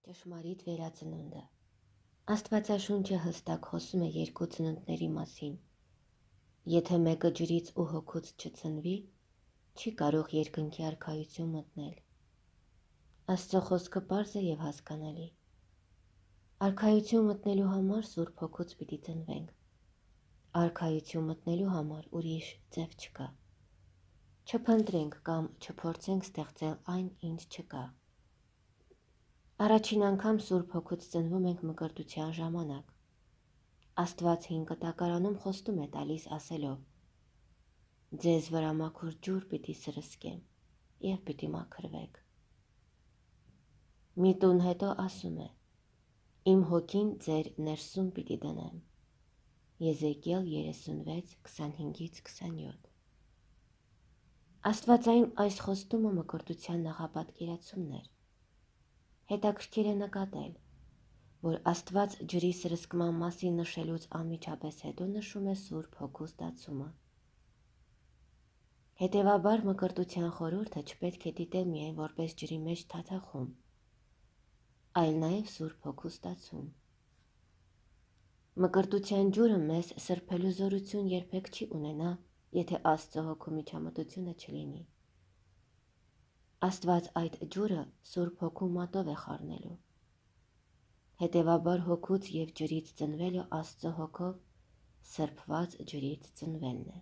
Ճշմարիտ վերածնունդը։ Աստվածաշունչը հստակ խոսում է երկու ծնունդների մասին։ Եթե մեկը ջրից ու հոգուց չծնվի, չի կարող երկնքի արքայություն մտնել։ Աստծո խոսքը պարզ է եւ հասկանալի։ Արքայություն մտնելու համար Սուրբ Հոգուց պիտի ծնվենք։ Արքայություն մտնելու համար ուրիշ ձև չկա։ Չփնտրենք կամ չփորձենք ստեղծել այն, ինչ չկա։ Առաջին անգամ Սուրբ Հոգուց ծնվում ենք մկրտության ժամանակ։ Աստված հին կտակարանում խոստում է տալիս ասելով. «Ձեզ վրա մաքուր ջուր պիտի սրսկեմ եւ պիտի մաքրվեք»։ Մի տուն հետո ասում է. «Իմ հոգին ձեր ներսում պիտի դնեմ»։ Եզեկիել 36:25-27։ Աստվածային այս խոստումը մկրտության նախապատկերացումն էր։ Հետաքրքիր է նկատել, որ Աստված ջրի սրսկման մասին նշելուց անմիջապես հետո նշում է Սուրբ Հոգու ստացումը։ Հետևաբար մկրտության խորհուրդը չպետք է դիտել միայն որպես ջրի մեջ թաթախում, այլ նաև Սուրբ Հոգու ստացում։ Մկրտության ջուրը մեզ սրբելու զորություն երբեք չի ունենա, եթե Աստծո Հոգու միջամտությունը չլինի։ Աստված այդ ջուրը Սուրբ Հոգու մատով է խառնելու։ Հետևաբար հոգուց և ջրից ծնվելը Աստծո Հոգով սրբված ջրից ծնվելն է։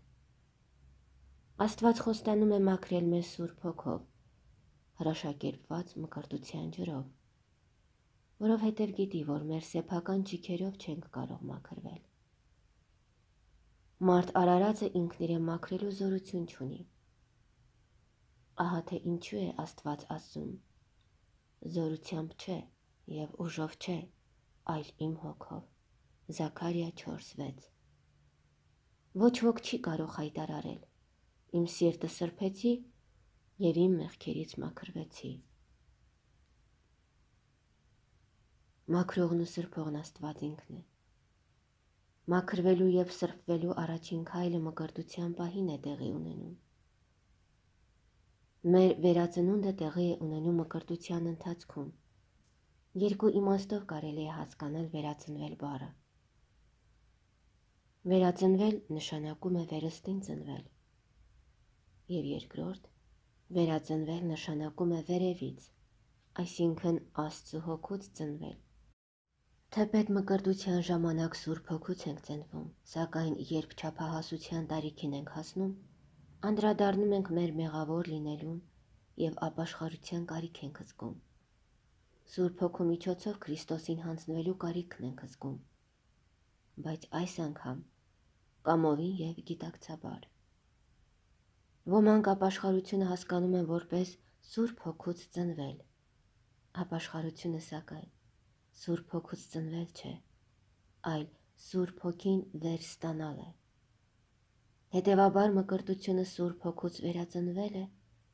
Աստված խոստանում է մաքրել մեզ Սուրբ Հոգով, հրաշակերպված մկրտության ջրով, որովհետև գիտի, որ մեր սեփական ճիգերով չենք կարող մաքրվել։ Մարդ արարածը ինքն իրեն մաքրելու զորություն չունի։ Ահա թե ինչու է Աստված ասում. «Զորությամբ չէ և ուժով չէ, այլ իմ հոգով»։ Զաքարիա 4:6։ Ոչ ոք չի կարող հայտարարել. «Իմ սիրտը սրբեցի և իմ մեղքերից մաքրվեցի»։ Մաքրողն ու սրբողն Աստված ինքն է։ Մաքրվելու և սրբվելու առաջին քայլը մկրտության պահին է տեղի ունենում։ Մեր վերածնունդը տեղի է ունենում մկրտության ընթացքում։ Երկու իմաստով կարելի է հասկանալ վերածնվել բառը։ Վերածնվել նշանակում է վերստին ծնվել։ Եվ երկրորդ, վերածնվել նշանակում է վերևից, այսինքն Աստծո Հոգուց ծնվել։ Թեպետ մկրտության ժամանակ Սուրբ Հոգուց ենք ծնվում, սակայն երբ չափահասության տարիքին ենք հասնում, անդրադառնում ենք մեր մեղավոր լինելուն և ապաշխարության կարիք ենք զգում։ Սուրբ Հոգու միջոցով Քրիստոսին հանձնվելու կարիքն ենք զգում, բայց այս անգամ կամովին և գիտակցաբար։ Ոմանք ապաշխարությունը հասկանում են որպես Սուրբ Հոգուց ծնվել։ Ապաշխարությունը սակայն Սուրբ Հոգուց ծնվել չէ, այլ Սուրբ Հոգին վերստանալ է։ Հետևաբար մկրտությունը Սուրբ Հոգուց վերածնվել է,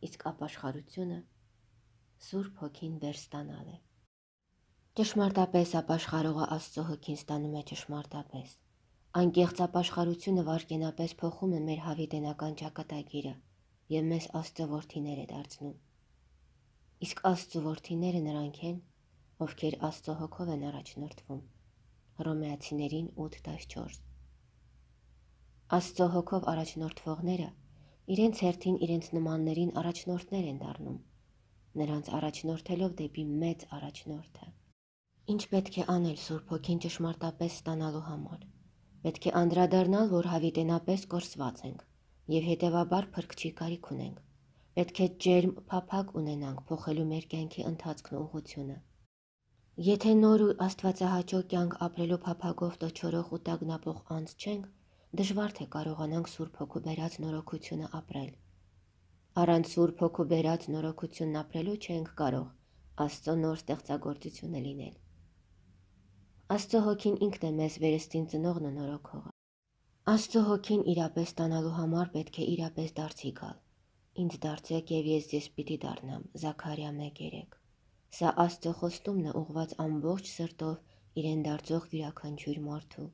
իսկ ապաշխարությունը Սուրբ Հոգին վերստանալ է։ Ճշմարտապես ապաշխարողը Աստծո Հոգին ստանում է ճշմարտապես։ Անկեղծ ապաշխարությունը վայրկենապես փոխում է մեր հավիտենական ճակատագիրը և մեզ Աստծո որդիներ է դարձնում։ Իսկ Աստծո որդիները նրանք են, ովքեր Աստծո Հոգով են առաջնորդվում։ Հռոմեացիներին 8:14։ Աստծո Հոգով առաջնորդվողները իրենց հերթին իրենց նմաններին առաջնորդներ են դառնում, նրանց առաջնորդելով դեպի մեծ առաջնորդը։ Ինչ պետք է անել Սուրբ Հոգին ճշմարտապես ստանալու համար։ Պետք է անդրադառնալ, որ հավիտենապես կորսված ենք և հետևաբար փրկչի կարիք ունենք։ Պետք է ջերմ փափագ ունենանք փոխելու մեր կյանքի ընթացքն ու ուղղությունը։ Եթե նոր ու աստվածահաճո կյանք ապրելու փափագով տչորող ու տագնապող անձ չենք, դժվար թե կարողանանք Սուրբ Հոգու բերած նորոգությունը ապրել։ Առանց Սուրբ Հոգու բերած նորոգությունն ապրելու չենք կարող Աստծո նոր ստեղծագործությունը լինել։ Աստծո Հոգին ինքն է մեզ վերստին ծնողն ու նորոգողը։ Աստծո Հոգին իրապես ստանալու համար պետք է իրապես դարձի գալ։ Ինձ դարձեք և ես ձեզ պիտի դառնամ։ Զաքարիա 1:3։ Սա Աստծո խոստումն է ուղղված ամբողջ սրտով իրեն դարձող յուրաքանչյուր մարդու։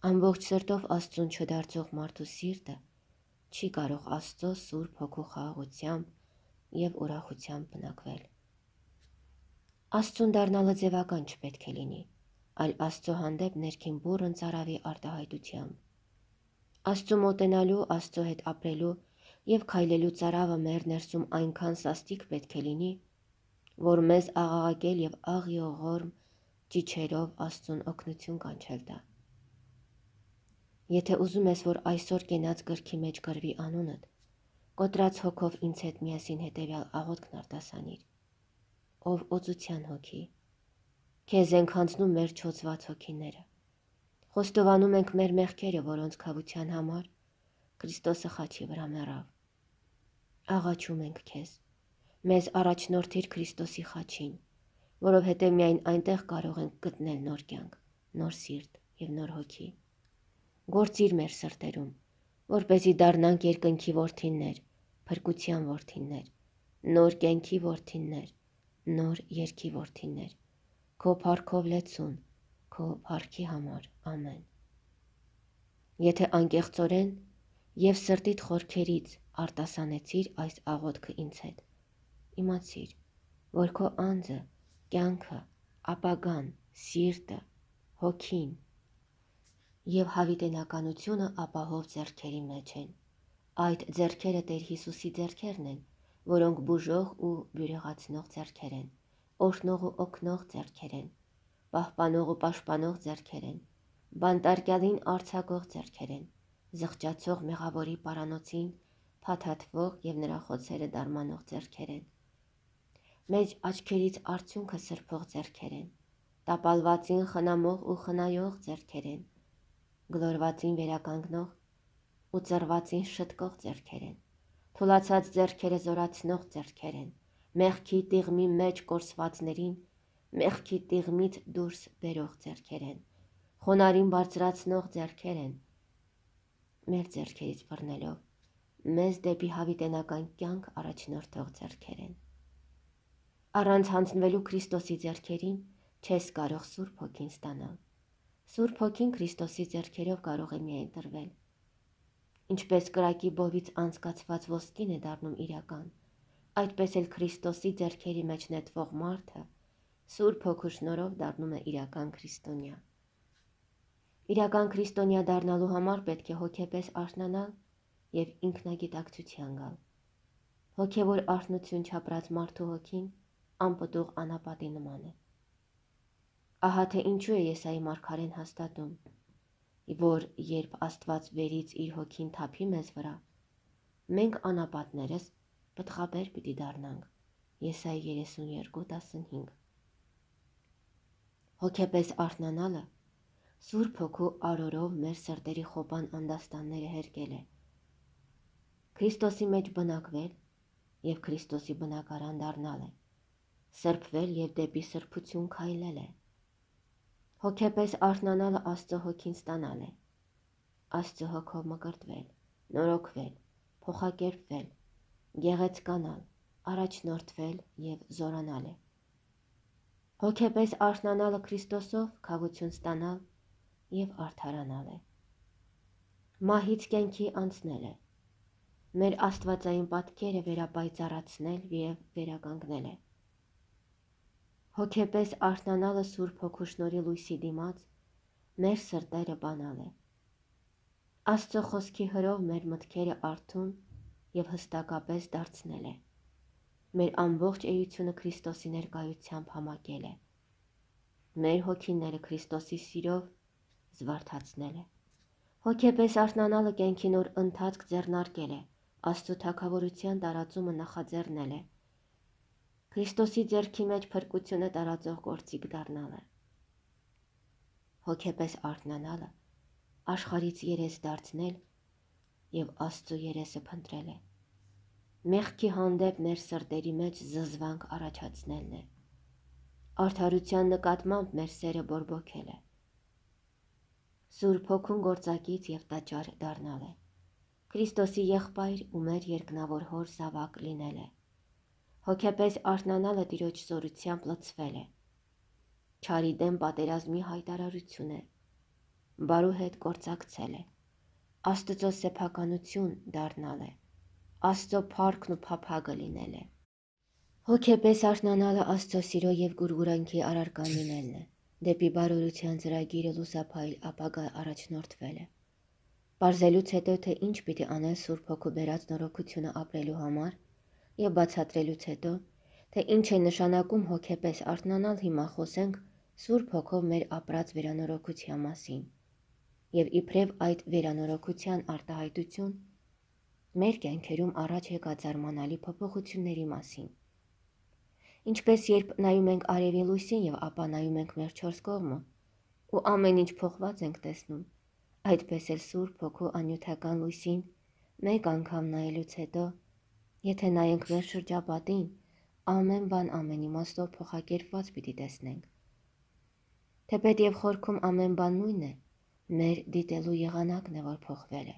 Ամբողջ սրտով Աստծուն չդարձող մարդու սիրտը չի կարող Աստծո Սուրբ Հոգու խաղաղությամբ և ուրախությամբ բնակվել։ Աստծուն դառնալը ձևական չպետք է լինի, այլ Աստծո հանդեպ ներքին բուռն ծարավի արտահայտությամբ։ Աստծու մոտենալու, Աստծո հետ ապրելու և քայլելու ծարավը մեր ներսում այնքան սաստիկ պետք է լինի, որ մեզ աղաղակել և աղիողորմ ճիչերով Աստծուն օգնություն կանչել տա։ Եթե ուզում ես, որ այսօր կենաց գրքի մեջ գրվի անունդ, կոտրած հոգով ինձ հետ միասին հետևյալ աղոթքն արտասանիր. ով օծության հոգի, քեզ ենք հանձնում մեր չոծված հոգիները, խոստովանում ենք մեր մեղքերը, որոնց քավության համար Քրիստոսը խաչի վրա մեռավ։ Աղաչում ենք քեզ, մեզ առաջնորդիր Քրիստոսի խաչին, որովհետև միայն այնտեղ կարող ենք գտնել նոր կյանք, նոր սիրտ և նոր հոգի։ Գործիր մեր սրտերում, որպեսզի դառնանք երկնքի որդիներ, փրկության որդիներ, նոր կյանքի որդիներ, նոր երգի որդիներ, քո փառքով լեցուն, քո փառքի համար, ամեն։ Եթե անկեղծորեն և սրտիդ խորքերից արտասանեցիր այս աղոթքը ինձ հետ, իմացիր, որ քո անձը, կյանքը, ապագան, սիրտը, հոգին և հավիտենականությունը ապահով ձեռքերի մեջ են։ Այդ ձեռքերը Տեր Հիսուսի ձեռքերն են, որոնք բուժող ու բյուրեղացնող ձեռքեր են, օրհնող ու օգնող ձեռքեր են, պահպանող ու պաշտպանող ձեռքեր են, բանտարկյալին արձակող ձեռքեր են, զղջացող մեղավորի պարանոցին փաթաթվող և նրա խոցերը դարմանող ձեռքեր են, մեծ աչքերից արդյունքը սրբող ձեռքեր են, տապալվածին խնամող ու խնայող ձեռքեր են, գլորվածին վերականգնող ու ծռվածին շտկող ձեռքեր են, թուլացած ձեռքերը զորացնող ձեռքեր են, մեղքի տիղմի մեջ կորսվածներին մեղքի տիղմից դուրս բերող ձեռքեր են, խոնարհին բարձրացնող ձեռքեր են, մեր ձեռքերից բռնելով, մեզ դեպի հավիտենական կյանք առաջնորդող ձեռքեր են։ Առանց հանձնվելու Քրիստոսի ձեռքերին չես կարող Սուրբ Հոգին ստանալ։ Սուրբ Հոգին Քրիստոսի ձեռքերով կարող է միայն տրվել։ Ինչպես կրակի բովից անցկացված ոսկին է դառնում իրական, այդպես էլ Քրիստոսի ձեռքերի մեջ նետվող մարդը Սուրբ Հոգու շնորհով դառնում է իրական քրիստոնյա։ Իրական քրիստոնյա դառնալու համար պետք է հոգեպես արթնանալ և ինքնագիտակցության գալ։ Հոգևոր արթնություն չապրած մարդու հոգին անպտուղ անապատի նման է։ Ահա թե ինչու է Եսայի մարգարեն հաստատում, որ երբ Աստված վերից իր հոգին թափի մեզ վրա, մենք անապատներս պտղաբեր պիտի դառնանք։ Եսայի 32:15։ Հոգեպես արթնանալը Սուրբ Հոգու արորով մեր սրտերի խոպան անդաստանները հերկել է, Քրիստոսի մեջ բնակվել և Քրիստոսի բնակարան դառնալ է, սրբվել և դեպի սրբություն քայլել է։ Հոգեպես արթնանալը Աստծո Հոգին ստանալ է, Աստծո Հոգով մկրտվել, նորոգվել, փոխակերպվել, գեղեցկանալ, առաջնորդվել և զորանալ է։ Հոգեպես արթնանալը Քրիստոսով քավություն ստանալ և արդարանալ է։ Մահից կյանքի անցնել է, մեր աստվածային պատկերը վերապայծառացնել և վերականգնել է։ Հոգեպես արթնանալը Սուրբ Հոգու շնորհի լույսի դիմաց մեր սրտերը բանալ է։ Աստծո խոսքի հրով մեր մտքերը արթուն և հստակապես դարձնել է։ Մեր ամբողջ էությունը Քրիստոսի ներկայությամբ համակել է։ Մեր հոգիները Քրիստոսի սիրով զվարթացնել է։ Հոգեպես արթնանալը կյանքի նոր ընթացք ձեռնարկել է, Աստծո թագավորության տարածումը նախաձեռնել է, Քրիստոսի ձեռքի մեջ փրկությունը տարածող գործիք դառնալ է։ Հոգեպես արթնանալը աշխարհից երես դարձնել և Աստծո երեսը փնտրել է։ Մեղքի հանդեպ մեր սրտերի մեջ զզվանք առաջացնելն է։ Արդարության նկատմամբ մեր սերը բորբոքել է։ Սուրբ Հոգուն գործակից և տաճար դառնալ է։ Քրիստոսի եղբայր ու մեր երկնավոր Հոր զավակ լինել է։ Հոգեպես արթնանալը Տիրոջ զորությամբ լցվել է։ Չարի դեմ պատերազմի հայտարարություն է։ Բարու հետ գործակցել է։ Աստծո սեփականություն դառնալ է։ Աստծո փառքն ու փափագը լինել է։ Հոգեպես արթնանալը Աստծո սիրո եւ գուրգուրանքի առարկան լինելն է, դեպի բարօրության ծրագիրը լուսափայլ ապագա առաջնորդվել է։ Պարզելուց հետո, թե ինչ պիտի անել Սուրբ Հոգու բերած նորոգությունը ապրելու համար եւ բացատրելուց հետո, թե ինչ է նշանակում հոգեպես արթնանալ, հիմա խոսենք Սուրբ Հոգով մեր ապրած վերանորոգության մասին եւ իբրև այդ վերանորոգության արտահայտություն մեր կյանքերում առաջ եկած զարմանալի փոփոխությունների մասին։ Ինչպես երբ նայում ենք արևի լույսին եւ ապա նայում ենք մեր 4 կողմը ու ամեն ինչ փոխված ենք տեսնում, այդպես էլ Սուրբ Հոգու անյութական լույսին մեկ անգամ նայելուց հետո, եթե նայենք մեր շրջապատին, ամեն բան ամեն իմաստով փոխակերպված պիտի տեսնենք։ Թեպետ եւ խորքում ամեն բան նույնն է, մեր դիտելու եղանակն է, որ փոխվել է։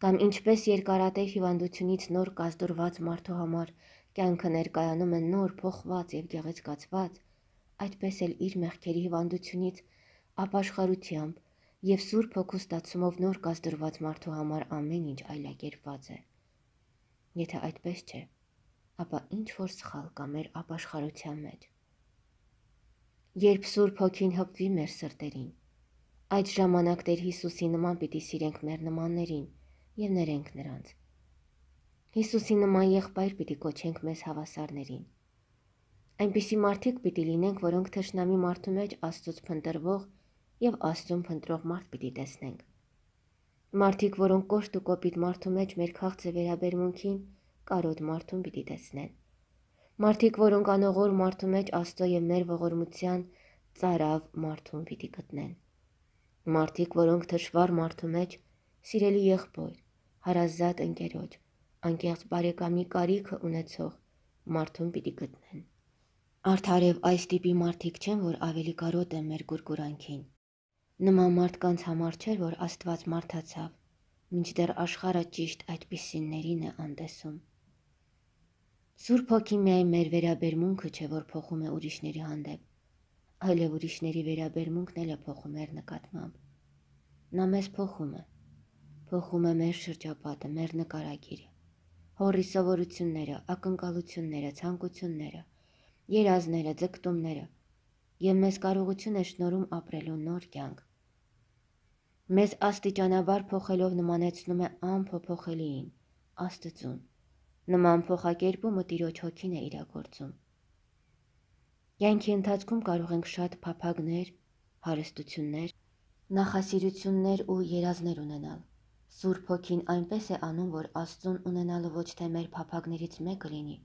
Կամ ինչպես երկարատև հիվանդությունից նոր կազդուրված մարդու համար կյանքը ներկայանում է նոր, փոխված եւ գեղեցկացված, այդպես էլ իր մեղքերի հիվանդությունից ապաշխարությամբ եւ Սուրբ Հոգու ստացումով նոր կազդուրված մարդու համար ամեն ինչ այլակերպված է։ Եթե այդպես չէ, ապա ինչ որ սխալ կա մեր ապաշխարության մեջ։ Երբ Սուրբ Հոգին հպվի մեր սրտերին, այդ ժամանակ Տեր Հիսուսի նման պիտի սիրենք մեր նմաններին եւ ներենք նրանց։ Հիսուսի նման եղբայր պիտի կոչենք մեզ հավասարներին։ Այնպիսի մարդիկ պիտի լինենք, որոնք թշնամի մարդու մեջ Աստծուց փնտրվող եւ Աստծուն փնտրող մարդ պիտի տեսնենք։ Մարդիկ, որոնք կոշտ ու կոպիտ մարդու մեջ մեր քաղցը վերաբերմունքին կարոտ մարդուն պիտի տեսնեն։ Մարդիկ, որոնք անողոր մարդու մեջ Աստծո եւ մեր ողորմության ծարավ մարդուն պիտի գտնեն։ Մարդիկ, որոնք թշվառ մարդու մեջ սիրելի եղբոր, հարազատ ընկերոջ, անկեղծ բարեկամի կարիքը ունեցող մարդուն պիտի գտնեն։ Արդարև այս տիպի մարդիկ չեն, որ ավելի կարոտ են մեր գուրգուրանքին։ Նման մարդկանց համար չէր, որ Աստված մարդացավ, մինչդեռ աշխարհը ճիշտ այդպիսիներին է անտեսում։ Սուրբ Հոգին միայն մեր վերաբերմունքը չէ, որ փոխում է ուրիշների հանդեպ, այլև ուրիշների վերաբերմունքն էլ է փոխում մեր նկատմամբ։ Նա մեզ փոխում է մեր շրջապատը, մեր նկարագիրը, հորի սովորությունները, ակնկալությունները, ցանկությունները, երազները, ձգտումները եւ մեզ կարողություն է շնորհում ապրելու նոր կյանք։ Մեզ աստիճանաբար փոխելով նմանեցնում է անփոփոխելիին, Աստծուն։ Նման փոխակերպումը Տիրոջ Հոգին է իրագործում։ Կյանքի ընթացքում կարող ենք շատ փափագներ, հարստություններ, նախասիրություններ ու երազներ ունենալ։ Սուրբ Հոգին այնպես է անում, որ Աստծուն ունենալը ոչ թե մեր փափագներից մեկը լինի,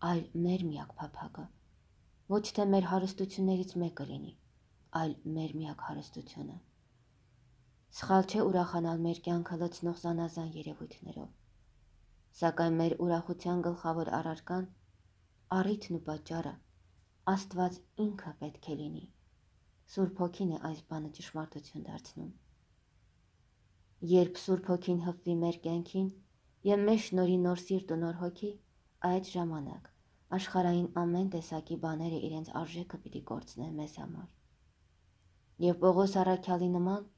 այլ մեր միակ փափագը։ Ոչ թե մեր հարստություններից մեկը լինի, այլ մեր միակ հարստությունը։ Սխալ չէ ուրախանալ մեր կյանքը լցնող զանազան երևույթներով, սակայն մեր ուրախության գլխավոր առարկան, առիթն ու պատճառը Աստված ինքը պետք է լինի։ Սուրբ Հոգին է այս բանը ճշմարտություն դարձնում։ Երբ Սուրբ Հոգին հպվի մեր կյանքին եւ մեզ շնորհի նոր սիրտ ու նոր հոգի, այդ ժամանակ աշխարհային ամեն տեսակի բաները իրենց արժեքը պիտի կորցնեն մեզ համար։ Եվ Պողոս առաքյալի նման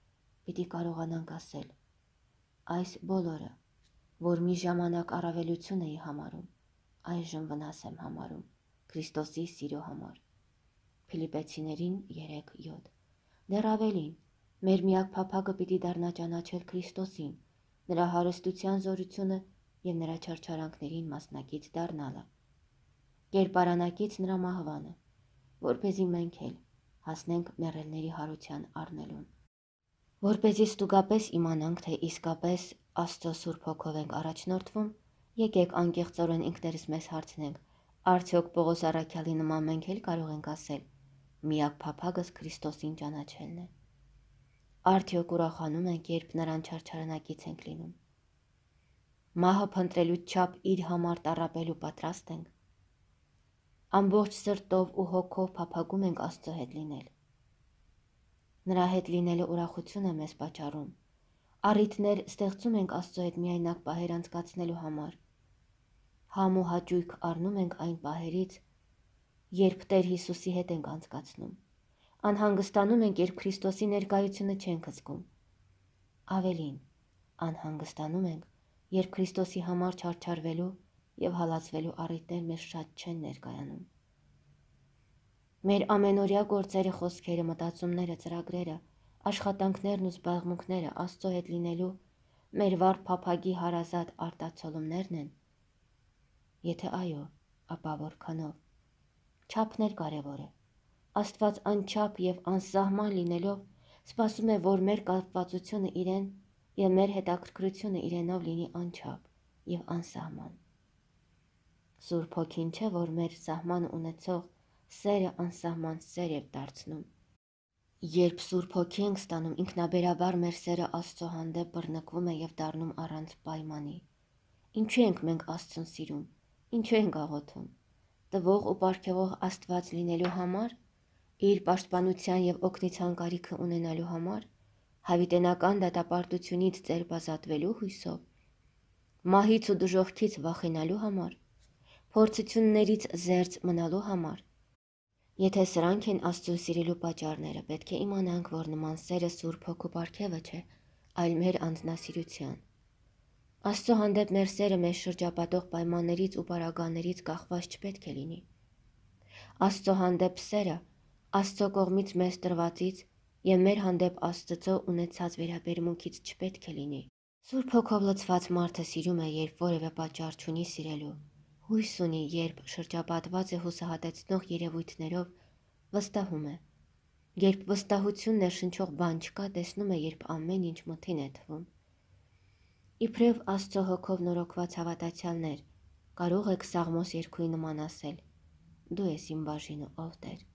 պիտի կարողանանք ասել. այս բոլորը, որ մի ժամանակ առավելություն էի համարում, այժմ վնաս եմ համարում Քրիստոսի սիրո համար։ Փիլիպպեցիներին 3:7։ Դեռ ավելին, մեր միակ փափագը պիտի դառնա ճանաչել Քրիստոսին, նրա հարստության զորությունը եւ նրա չարչարանքներին մասնակից դառնալը, կերպարանակից նրա մահվանը, որպեսզի մենք էլ հասնենք մեռելների հարության առնելուն։ Որպեսզի ստուգապես իմանանք, թե իսկապես Աստծո Սուրբ Հոգով ենք առաջնորդվում, եկեք անկեղծորեն ինքներս մեզ հարցնենք, արդյոք Պողոս առաքյալի նման մենք էլ կարող ենք ասել. միակ փափագս Քրիստոսին ճանաչելն է։ Արդյոք ուրախանում ենք, երբ նրան չարչարանակից ենք լինում։ Մահը փնտրելու չափ իր համար տառապելու պատրաստ ենք։ Ամբողջ սրտով ու հոգով փափագում ենք Աստծո հետ լինել։ Նրա հետ լինելը ուրախություն է մեզ պատճառում։ Առիթներ ստեղծում ենք Աստծո հետ միայնակ պահեր անցկացնելու համար։ Համ ու հաճույք առնում ենք այն պահերից, երբ Տեր Հիսուսի հետ ենք անցկացնում։ Անհանգստանում ենք, երբ Քրիստոսի ներկայությունը չենք զգում։ Ավելին, անհանգստանում ենք, երբ Քրիստոսի համար չարչարվելու և հալածվելու առիթներ մեզ շատ չեն ներկայանում։ Մեր ամենօրյա գործերը, խոսքերը, մտածումները, ծրագրերը, աշխատանքներն ու զբաղմունքները Աստծո հետ լինելու մեր վառ փափագի հարազատ արտացոլումներն են։ Եթե այո, ապա որքանով։ Չափն էլ կարևոր է։ Աստված անչափ և անսահման լինելով սպասում է, որ մեր կապվածությունը իրեն և մեր հետաքրքրությունը իրենով լինի անչափ և անսահման։ Սուրբ Հոգին չէ, որ մեր սահման ունեցող սերը անսահման սեր է դարձնում։ Երբ Սուրբ Հոգի ենք ստանում, ինքնաբերաբար մեր սերը Աստծո հանդեպ բռնկվում է և դառնում առանց պայմանի։ Ինչու ենք մենք Աստծուն սիրում, ինչու ենք աղոթում։ Տվող ու պարգևող Աստված լինելու համար, իր պաշտպանության և օգնության կարիքը ունենալու համար, հավիտենական դատապարտությունից ձերբազատվելու հույսով, մահից ու դժոխքից վախենալու համար, փորձություններից զերծ մնալու համար։ Եթե սրանք են Աստծուն սիրելու պատճառները, պետք է իմանանք, որ նման սերը Սուրբ Հոգու պարգևը չէ, այլ մեր անձնասիրության։ Աստծո հանդեպ մեր սերը մեզ շրջապատող պայմաններից ու պարագաներից կախված չպետք է լինի։ Աստծո հանդեպ սերը Աստծո կողմից մեզ տրվածից և մեր հանդեպ Աստծո ունեցած վերաբերմունքից չպետք է լինի։ Սուրբ Հոգով լցված մարդը սիրում է, երբ որևէ պատճառ չունի սիրելու, հույս ունի, երբ շրջապատված է հուսահատեցնող երևույթներով, վստահում է։ Երբ վստահություն ներշնչող բան չկա, տեսնում է, երբ ամեն ինչ մթին է թվում։ Իբրև Աստծո Հոգով նորոգված հավատացյալներ, կարող եք Սաղմոս 2-ի նման ասել. «Դու ես իմ բաժինը, ով Տեր»։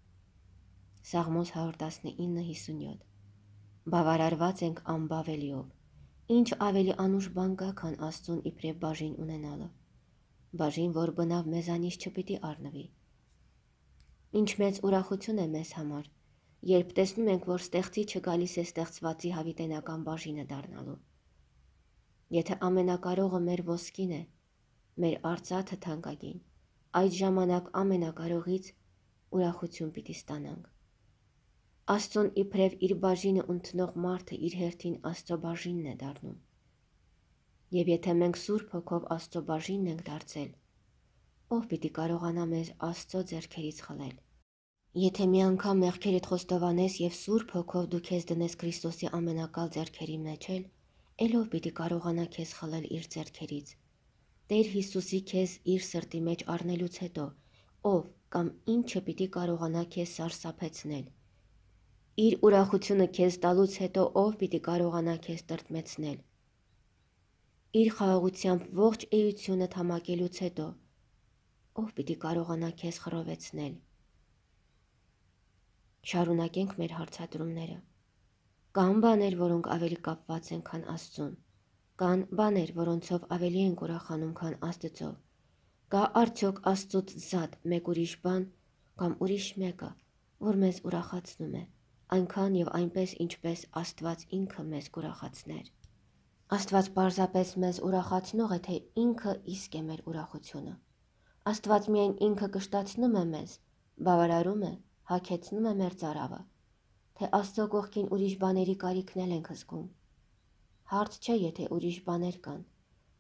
Սաղմոս 119:57։ Բավարարված ենք անբավելիով։ Ինչ ավելի անուշ բան կա, քան Աստծուն իբրև բաժին ունենալը։ Բաժին, որ բնավ մեզանից չպիտի առնվի։ Ինչ մեծ ուրախություն է մեզ համար, երբ տեսնում ենք, որ ստեղծիչը գալիս է ստեղծվածի հավիտենական բաժինը դառնալու։ Եթե ամենակարողը մեր ոսկին է, մեր արծաթը թանկագին, այդ ժամանակ ամենակարողից ուրախություն պիտի ստանանք։ Աստծուն իբրև իր բաժինը ընդունող մարդը իր հերթին Աստծո բաժինն է դառնում։ Եվ եթե մենք Սուրբ Հոգով Աստծո բաժինն ենք դարձել, ով պիտի կարողանա մեզ Աստծո ձեռքերից խլել։ Եթե մի անգամ մեղքերդ խոստովանես և Սուրբ Հոգով դու քեզ դնես Քրիստոսի ամենակալ ձեռքերի մեջ էլ, ով պիտի կարողանա քեզ խլել իր ձեռքերից։ Տեր Հիսուսի քեզ իր սրտի մեջ առնելուց հետո, ով կամ ինչը պիտի կարողանա քեզ սարսափեցնել։ Իր ուրախությունը քեզ տալուց հետո, ով պիտի կարողանա քեզ տրտմեցնել։ Իր խաղաղությամբ ողջ էությունդ համակելուց հետո, ով պիտի կարողանա քեզ խռովեցնել։ Շարունակենք մեր հարցադրումները։ Կան բաներ, որոնք ավելի կապված են, քան Աստծուն։ Կան բաներ, որոնցով ավելի ենք ուրախանում, քան Աստծով։ Կա արդյոք Աստծուց զատ մեկ ուրիշ բան կամ ուրիշ մեկը, որ մեզ ուրախացնում է, այնքան և այնպես, ինչպես Աստված ինքը մեզ կուրախացներ։ Աստված պարզապես մեզ ուրախացնող է, թե ինքը իսկ է մեր ուրախությունը։ Աստված միայն ինքը կշտացնում է մեզ, բավարարում է, հագեցնում է մեր ծարավը, թե Աստծո կողքին ուրիշ բաների կարիքն էլ ենք զգում։ Հարց չէ, եթե ուրիշ բաներ կան,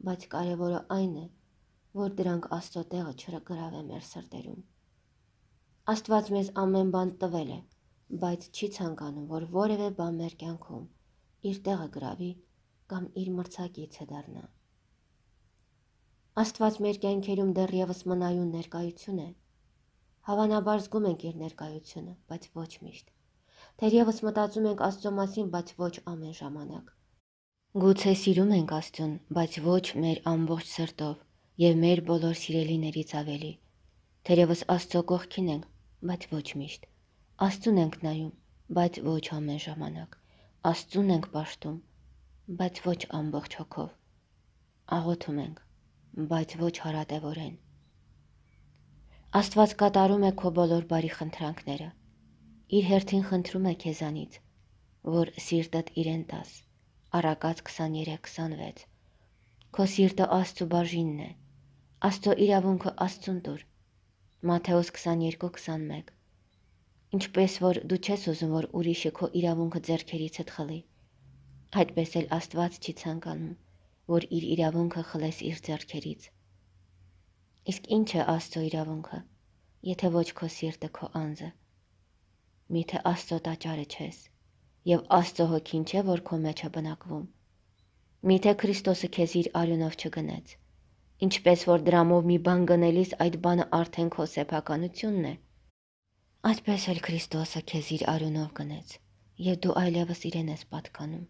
բայց կարևորը այն է, որ դրանք Աստծո տեղը չգրավե մեր սրտերում։ Աստված մեզ ամեն բան տվել է, բայց չի ցանկանում, որ որևէ բան մեր կյանքում իր տեղը գրավի կամ իր մրցակիցը դառնա։ Աստված մեր կյանքերում դեռևս մնայուն ներկայություն է։ Հավանաբար զգում ենք իր ներկայությունը, բայց ոչ միշտ։ Թերևս մտածում ենք Աստծո մասին, բայց ոչ ամեն ժամանակ։ Գուցե սիրում ենք Աստծուն, բայց ոչ մեր ամբողջ սրտով և մեր բոլոր սիրելիներից ավելի։ Թերևս Աստծո կողքին ենք, բայց ոչ միշտ։ Աստծուն ենք նայում, բայց ոչ ամեն ժամանակ։ Աստծուն ենք պաշտում, բայց ոչ ամբողջ հոգով։ Աղոթում ենք, բայց ոչ հարատևորեն։ Աստված կատարում է քո բոլոր բարի խնդրանքները։ Իր հերթին խնդրում է քեզանից, որ սիրտդ իրեն տաս։ Առակաց 23:26։ Քո սիրտը Աստծո բաժինն է։ Աստծո իրավունքը Աստծուն տուր։ Մատթեոս 22:21։ Ինչպես որ դու չես ուզում, որ ուրիշը քո իրավունքը ձեռքերիցդ խլի, այդպես էլ Աստված չի ցանկանում, որ իր իրավունքը խլես իր ձեռքերից։ Իսկ ինչ է Աստծո իրավունքը, եթե ոչ քո սիրտը քո անձը։ Միթե Աստծո տաճարը չես, եւ Աստծո հոգին չէ, որ քո մեջ է բնակվում։ Միթե Քրիստոսը քեզ իր արյունով չգնեց, ինչպես որ դրամով մի բան գնելիս այդ բանը արդեն քո սեփականությունն է։ Այդպես էլ Քրիստոսը քեզ իր արյունով գնեց, եւ դու այլևս իրեն ես պատկանում։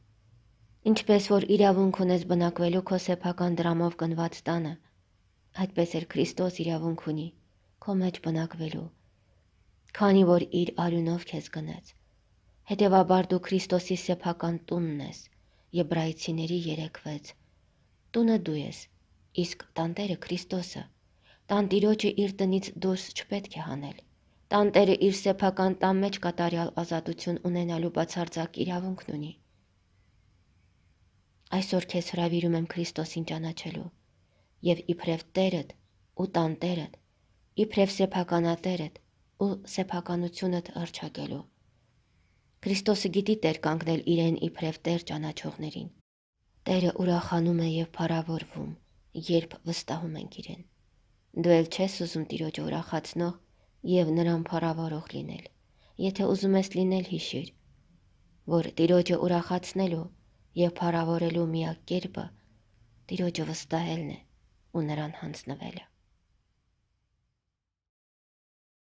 Ինչպես որ իրավունք ունես բնակվելու քո սեփական դրամով գնված տանը, այդպես էլ Քրիստոս իրավունք ունի քո մեջ բնակվելու, քանի որ իր արյունով քեզ գնեց։ Հետևաբար դու Քրիստոսի սեփական տունն ես, Եբրայեցիների 3:6։ Տունը դու ես, իսկ տանտերը Քրիստոսը։ Տանտիրոջը իր տնից դուրս չպետք է հանել։ Տանտերը իր սեփական տան մեջ կատարյալ ազատություն ունենալու բացարձակ իրավունքն ունի։ Այսօր քեզ հրավիրում եմ Քրիստոսին ճանաչելու եւ իբրև Տերդ ու տանտերդ, իբրև սեփականատերդ ու սեփականությունդ հռչակելու։ Քրիստոսը գիտի տեր կանգնել իրեն իբրև Տեր ճանաչողներին։ Տերը ուրախանում է եւ փառավորվում, երբ վստահում ենք իրեն։ Դու էլ չես ուզում Տիրոջը ուրախացնող եւ նրան փառավորող լինել։ Եթե ուզում ես լինել, հիշիր, որ Տիրոջը ուրախացնելու եւ փառավորելու միակ կերպը Տիրոջը վստահելն է ու նրան հանձնվելը։